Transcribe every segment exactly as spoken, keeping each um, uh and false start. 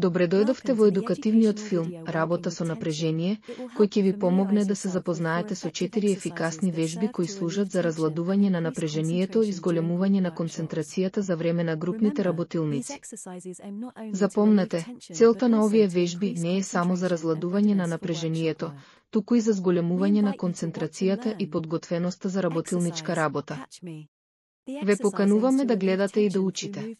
Добре дојдовте во едукативниот филм Работа со напрежение, кој ќе ви помогне да се запознаете со четири ефикасни вежби кои служат за разладување на напрежението и зголемување на концентрацијата за време на групните работилници. Запомнете, целта на овие вежби не е само за разладување на напрежението, туку и за зголемување на концентрацијата и подготвеноста за работилничка работа. Ве покануваме да гледате и да учите.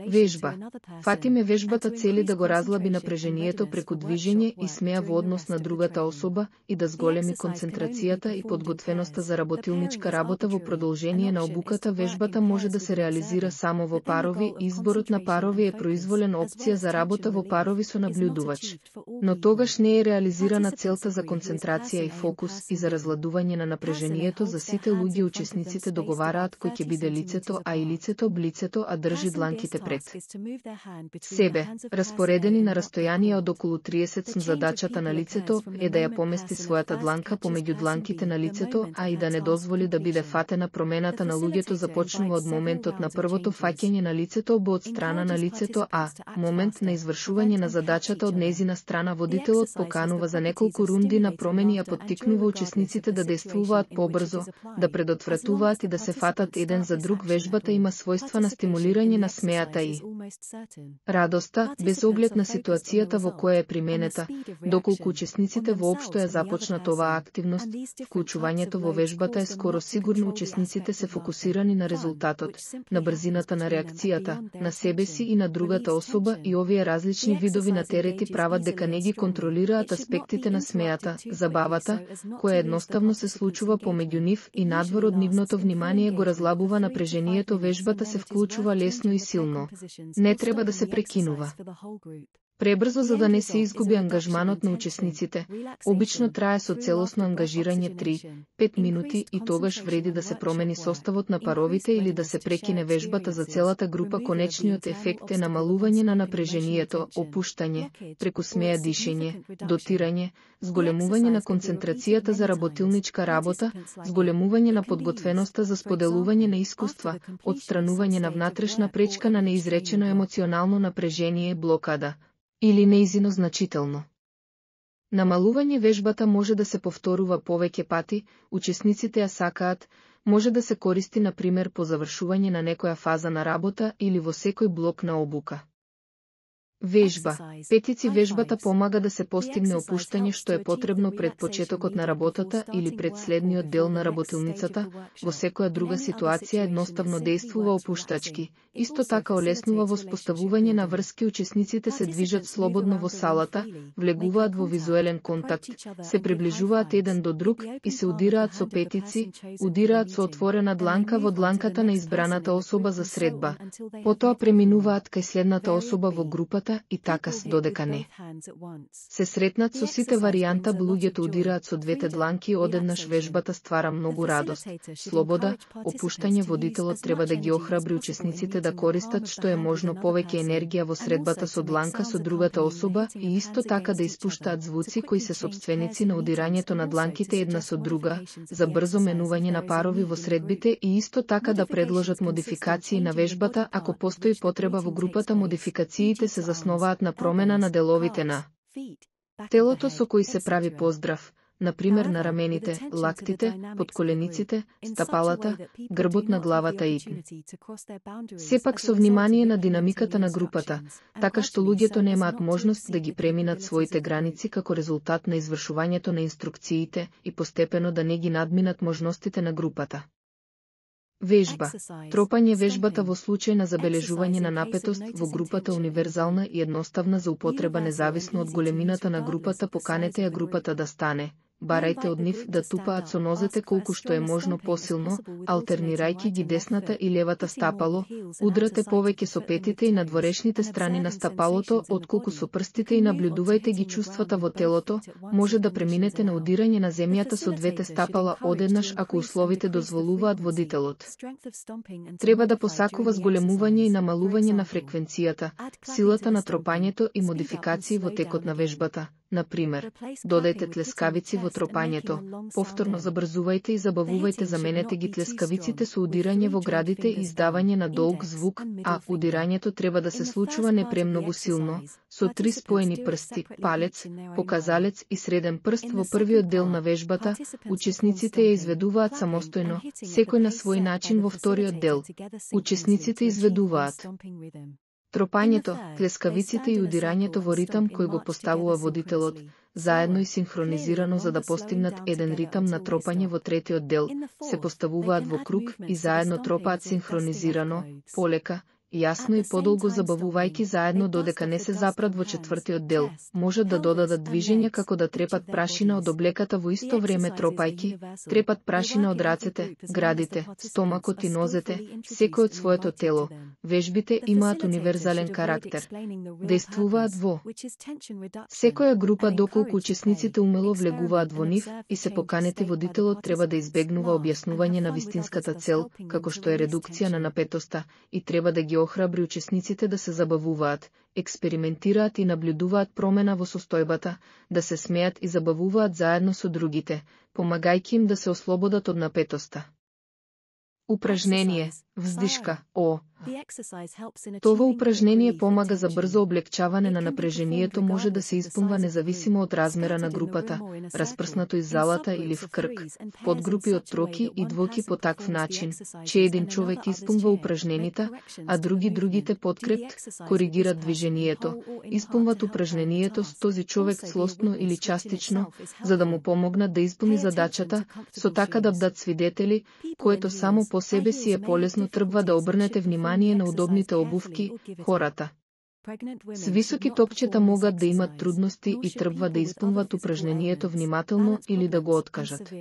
Вежба. Фатиме вежбата цели да го разлаби напрежението преку движење и смеа во однос на другата особа и да зголеми концентрацијата и подготвеноста за работилничка работа во продолжение на обуката. Вежбата може да се реализира само во парови. Изборот на парови е произволен опција за работа во парови со наблюдувач. Но тогаш не е реализирана целта за концентрација и фокус и за разладување на напрежението. За сите луѓе учесниците договараат кој ќе биде лицето А и лицето Б. Лицето А држи дланките пред себе, распоредени на растојание од околу триесет см. Задачата на лицето е да ја помести својата дланка помеѓу дланките на лицето А и да не дозволи да биде фатена. Промената на луѓето започнува од моментот на првото фаќање на лицето Б од страна на лицето А. Момент на извршување на задачата од нејзина страна. Водителот поканува за неколку рунди на промени, ја поттикнува учесниците да действуваат побрзо, да предотвратуваат и да се фатат еден за друг. Вежбата има својства на стимулирање на смеата и радоста, без оглед на ситуацијата во која е применета. Доколку учесниците воопшто ја започнат оваа активност, вклучувањето во вежбата е скоро сигурно. Учесниците се фокусирани на резултатот, на брзината на реакцијата, на себе си и на другата особа, и овие различни видови на терети прават дека не ги контролираат аспектите на смеата, забавата, која едноставно се случува помеѓу нив и надвор од нивното внимание го разлабува напрежението. Вежбата се вклучува лесно и силно. Не треба да се прекинува пребрзо за да не се изгуби ангажманот на учесниците. Обично трае со целосно ангажирање три до пет минути и тогаш вреди да се промени составот на паровите или да се прекине вежбата за целата група. Конечниот ефект е намалување на напрежението, опуштање, преку смеа дишење, дотирање, зголемување на концентрацијата за работилничка работа, зголемување на подготвеноста за споделување на искуства, отстранување на внатрешна пречка на неизречено емоционално напрежение, блокада или неизино значително. Намалување вежбата може да се повторува повеќе пати. Учесниците ја сакаат, може да се користи на пример по завршување на некоја фаза на работа или во секој блок на обука. Вежба. Петици. Вежбата помага да се постигне опуштање што е потребно пред почетокот на работата или пред следниот дел на работилницата. Во секоја друга ситуација едноставно действува опуштачки. Исто така олеснува воспоставување на врски. Учесниците се движат слободно во салата, влегуваат во визуелен контакт, се приближуваат еден до друг и се удираат со петици, удираат со отворена дланка во дланката на избраната особа за средба. Потоа преминуваат кај следната особа во групата и така додека не се сретнат со сите варијанта. Луѓето удираат со двете дланки одеднаш. Вежбата ствара многу радост, слобода, опуштање. Водителот треба да ги охрабри учесниците да користат што е можно повеќе енергија во средбата со дланка со другата особа и исто така да испуштаат звуци кои се сопственици на удирањето на дланките една со друга, за брзо менување на парови во средбите и исто така да предложат модификации на вежбата ако постои потреба во групата. Модификациите се основаат на промена на деловите на телото со кои се прави поздрав, например на рамените, лактите, подколениците, стапалата, грбот на главата и сепак со внимание на динамиката на групата, така што луѓето немаат можност да ги преминат своите граници како резултат на извршувањето на инструкциите и постепено да не ги надминат можностите на групата. Вежба. Тропање. Вежбата во случај на забележување на напетост во групата универзална и едноставна за употреба независно од големината на групата. Поканете ја групата да стане. Барајте од нив да тупаат со нозете колку што е можно посилно, алтернирајќи ги десната и левата стапало. Удрате повеќе со петите и надворешните страни на стапалото отколку со прстите и наблюдувајте ги чувствата во телото. Може да преминете на удирање на земјата со двете стапала одеднаш ако условите дозволуваат. Водителот треба да посакува зголемување и намалување на фреквенцијата, силата на тропањето и модификации во текот на вежбата. например, додајте тлескавици во тропањето, повторно забрзувајте и забавувајте, заменете ги тлескавиците со удирање во градите и издавање на долг звук, а удирањето треба да се случува не премногу силно, со три споени прсти, палец, показалец и среден прст. Во првиот дел на вежбата, учесниците ја изведуваат самостојно, секој на свој начин. Во вториот дел, учесниците изведуваат тропањето, тлескавиците и удирањето во ритам кој го поставува водителот, заедно и синхронизирано за да постигнат еден ритам на тропање. Во третиот дел, се поставуваат во круг и заедно тропаат синхронизирано, полека, јасно и подолго забавувајќи заедно додека не се запрат. Во четвртиот дел, можат да додадат движење како да трепат прашина од облеката во исто време тропајќи, трепат прашина од рацете, градите, стомакот и нозете, секој од своето тело. Вежбите имаат универзален карактер. Действуваат во секоја група доколку учесниците умело влегуваат во нив и се поканети, водителот треба да избегнува објаснување на вистинската цел, како што е редукција на напетоста, и треба да ги охрабри учесниците да се забавуваат, експериментираат и наблюдуваат промена во состојбата, да се смеат и забавуваат заедно со другите, помагајќи им да се ослободат од напетоста. Упражнение, вздишка, О. Това упражнение помага за брзо облегчаване на напрежението, може да се исполнува независимо од размера на групата, распрснато из залата или в крг, в подгрупи од троки и двоки по такв начин, че еден човек исполнува упражненита, а други другите подкрепт, коригират движението, исполнуват упражнението с този човек целосно или частично, за да му помогнат да исполни задачата, со така да бдат свидетели, което само по себе си е полесно. Требва да обрнете внимание на удобните обувки, хората с високи топчета могат да имат трудности и требва да исполнуват упражнението внимателно или да го откажат.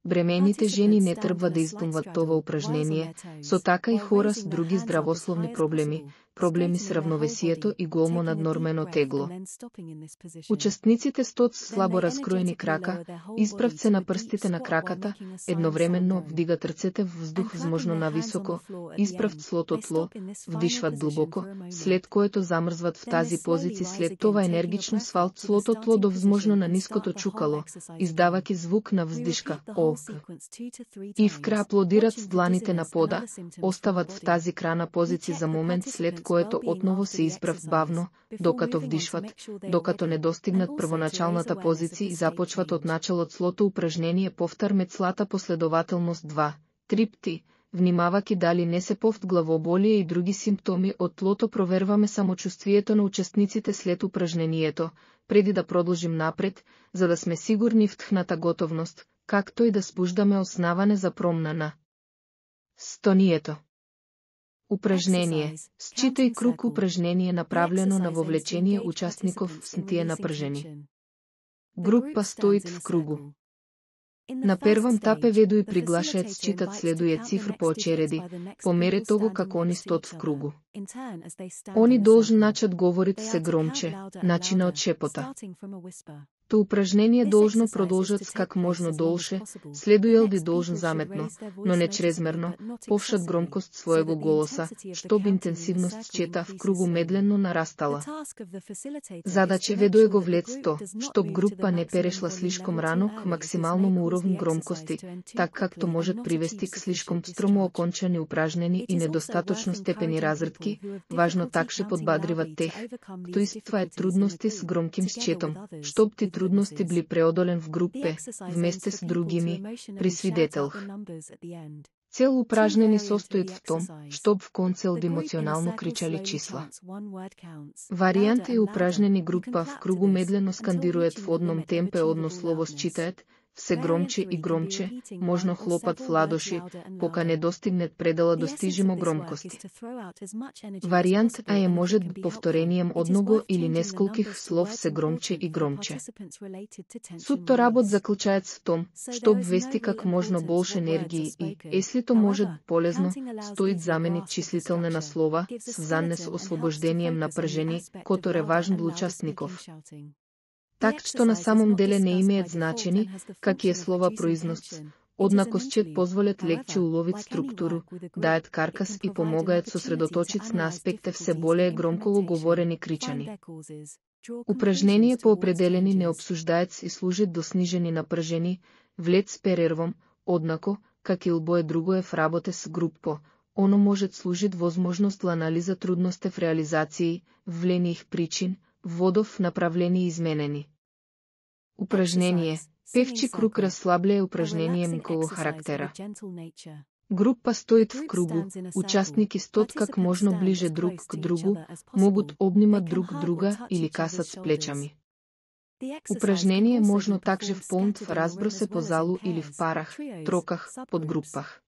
Бремените жени не требва да исполнуват това упражнение, со така и хора с други здравословни проблеми, проблеми с равновесието и голмо наднормено тегло. Учесниците стоат с слабо раскроени крака, исправат се на прстите на краката, едновременно вдигат рцете в вздух возможно нависоко, исправат слото тло, вдишват длубоко, след което замрзват в тази позиција, след това енергично свалт слото тло до возможно на ниското чукало, издавајќи звук на вздишка, О. И вкрај аплодират с дланите на пода, остават в тази крана позиција за момент, след което отново се исправат бавно, докато вдишват, докато не достигнат првоначалната позиција и започват од началот слото упражнение. Повтар мецлата последователност два три пти, внимавајќи дали не се повт главоболие и други симптоми од тлото. Проверваме самочувствието на учесниците след упражнението, преди да продолжим напред, за да сме сигурни в тхната готовност, както и да спуждаме основане за промна стонието. Упражнение. Считай круг. Упражнение направлено на вовлечение участников в стие напржени. Група стоит в кругу. На првом тапе веду и приглашаат считат следује цифр по очереди, по мере того како они стоат в кругу. Они должен начат говорит се громче, начина од шепота. То упражнение должно продолжат с как можно долше, следуел би должен заметно, но не чрезмерно, повшат громкост своего голоса, чтоб интенсивност счета в кругу медленно нарастала. Задача ведуе го влецто, чтоб група не перешла слишком рано к максималном уровню громкости, так както можат привести к слишком стромо окончани упражнени и недостаточно степени разредки. Важно такше подбадриват тех, кто испитваат трудности с громким счетом, чтоб ти трудности били преодолен в групе, вместе с другими, при свидетелх. Цел упражнени состоит в том, чтоб в концел емоционално кричали числа. Варијант е упражнени група в кругу медлено скандирует в одном темпе одно слово считаат, все громче и громче, можно хлопат в ладоши, пока не достигнет предела достижимо громкости. Варијант А е може повторением одного или несколких слов се громче и громче. Сутто работ заклучаец в том, што обвести как можно больше енергии и, если то може полезно, стоит заменит числителне на слова с занес ослобождением напржени, которое важен для участников. Так што на самом деле не имеат значени, какие слова произносят. Однако счет позволят легче уловит структуру, дајат каркас и помогаат сосредоточиц на аспекте все более громко говорени кричани. Упражнение по определени не обсуждаец и служит до снижени напрежени, влет с перервом, однако, как и лбое другое в работе с группо, оно может служит возможност за анализа трудности в реализации, ввлених причин, водов направлени изменени. Упражнение. Певчи круг расслабляе упражнение мколо характера. Группа стоит в кругу, участники стот как можно ближе друг к другу, могут обнимать друг друга или касат с плечами. Упражнение можно также вполнить в разбросе по залу или в парах, троках, подгруппах.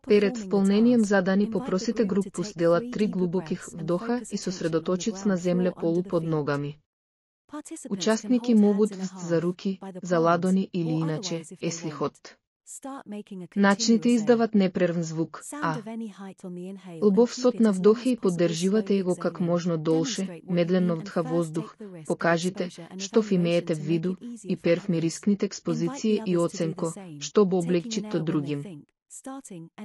Перед вполнением задани попросите группу сделат три глубоких вдоха и сосредоточиц на земля полу под ногами. Участники могут вст за руки, за ладони или иначе, если ход. Начните издават непрервен звук, а лбов сот на вдохи и поддрживате его как можно долше, медленно вдха воздух, покажите, што имеете в виду, и перв ми рискните експозиcije и оценко, што бо облегчит то другим.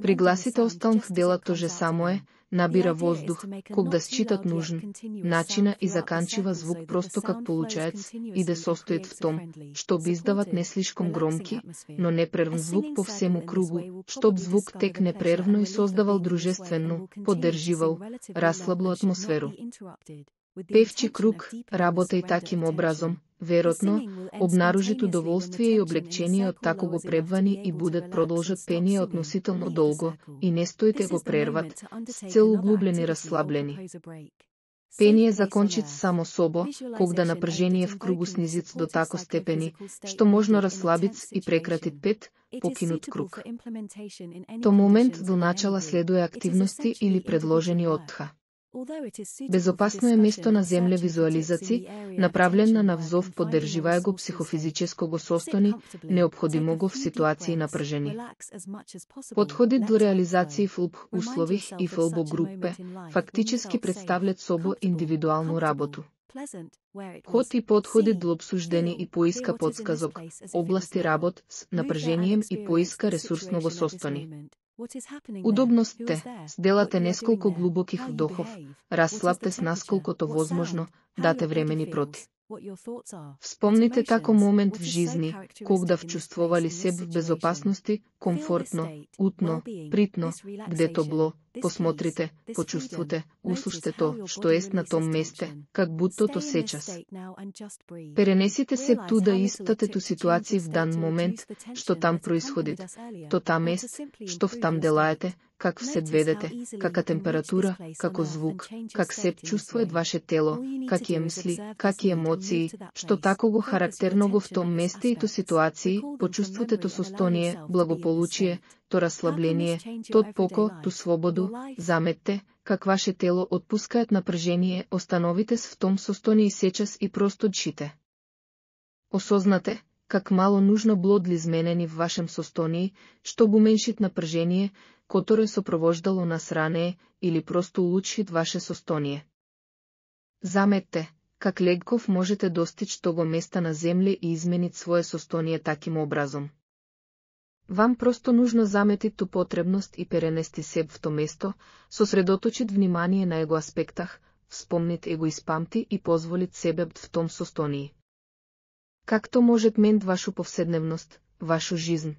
Пригласите осталных делат то же самое, набира воздух, когда считат нужен, начина и заканчива звук просто как получается, и да состоит в том, чтоб издават не слишком громки, но непрервен звук по всему кругу, чтоб звук тек непрервно и создавал дружественно, поддерживал, расслабло атмосферу. Певчи круг, работај таким образом, вероятно, обнаружит удоволствие и облегчение от тако го пребвани и будат продолжат пение относително долго, и не стоите го прерват, с цел углублени расслаблени. Пение закончит само собо, когда напряжение в кругу снизит до тако степени, што можно расслабиц и прекратит пет, покинут круг. То момент до начала следуе активности или предложени отдха. Безопасно е место на земле визуализаци, направлена на взов поддрживае го психофизическо го состони, необходимо го в ситуации напржени. Подходит до реализации в лб услових и в лбо группе, фактически представлят собо индивидуалну работу. Ход и подходи до обсуждени и поиска подсказок, области работ с напрежением и поиска ресурсно го состони. Удобностте, сделате несколку глубоких вдохов, расслабте с насколкото возможно, дате времени проти. Вспомните тако момент в жизни, когда вчувствовали себе в безопасности, комфортно, утно, притно, где то било, посмотрите, почувствуйте, услуште то, што ест на том месте, как будто то сейчас. Перенесите се туда и испытате ту ситуација в дан момент, што там происходит, то там ест, што в там делаете, как се ведете, кака температура, како звук, как се чувствует ваше тело, какие мисли, какие емоции, што тако го характерно го в том месте и ту ситуации, почувствуйте то состояние, благополучие, то расслабление, тот поко, ту свободу, заметте, как ваше тело отпускаат напрежение, остановите се в том состоянии сечас и просто дшите. Осознате, как мало нужно било да изменени в вашем состоянии, чтоб уменшит напрежение, которое сопровождало нас ранее, или просто улучшит ваше состояние. Заметте, как легков можете достичь того места на земле и изменить свое состояние таким образом. Вам просто нужно заметить ту потребност и перенести себе в то место, сосредоточить внимание на его аспектах, вспомнить его испамти и позволить себе в том состоянии. Как то может менять вашу повседневност, вашу жизнь?